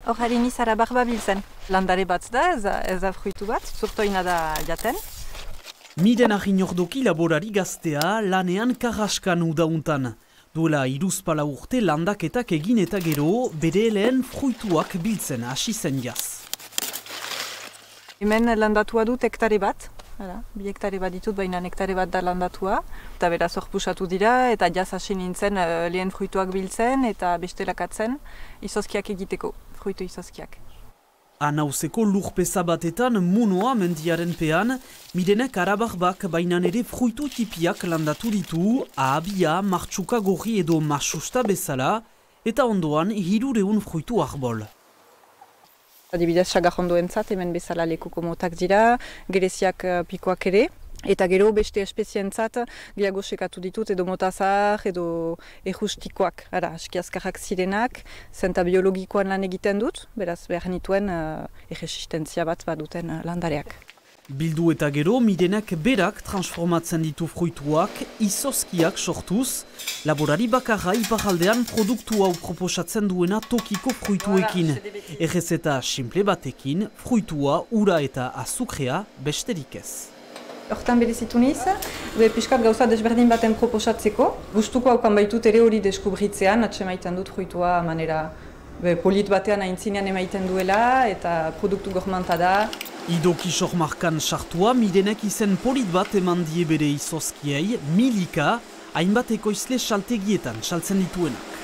Hor harin izara barba biltzen. Landare bat da, ez da fruitu bat, zurtoina da jaten. Miren Aginordoki laborari gaztea lanean karraskan udauntan. Duela 3 urte landaketak egin eta gero bere lehen fruituak biltzen hasi zen jaz. Hemen landatua dut hektare bat. 2 hektare bat ditut, baina hektare bat da landatua. Eta beraz hor pusatu dira, eta jaz hasi nintzen lehen fruituak biltzen eta bestelakatzen izozkiak egiteko, fruitu izozkiak. Anauzeko lurpeza batetan Munoa mendiaren pean, Mirenek arabarbak bainan ere fruitu tipiak landatu ditu, ahabia, martxuka gorri edo masusta bezala, eta ondoan 300 fruitu arbol. Adibidez, sagarrondoentzat hemen bezala lekuko motak dira, gereziak pikoak ere, eta gero beste espezientzat gehiago sekatu ditut edo motazar edo errustikoak, aski azkarrak zirenak, zenta biologikoan lan egiten dut, beraz behar nituen erresistentzia bat baduten landareak. Bildu eta gero, Mirenek berak transformatzen ditu fruituak, izozkiak sortuz, laborari bakarra iparaldean produktu hau proposatzen duena tokiko fruituekin. Errezeta simple batekin, fruitua, ura eta azukrea besterik ez. Hortan berezitu niz, piskat gauza desberdin baten proposatzeko. Gustuko haukan baitut ere hori deskubritzean, atsemaiten dut fruitua manera polit batean aintzinean emaiten duela eta produktu gormanta da. Idoki sormarkan sartua, Mirenek izen polit bat eman die bere izozkiei, Milika, hainbat ekoizle saltegietan saltzen dituenak.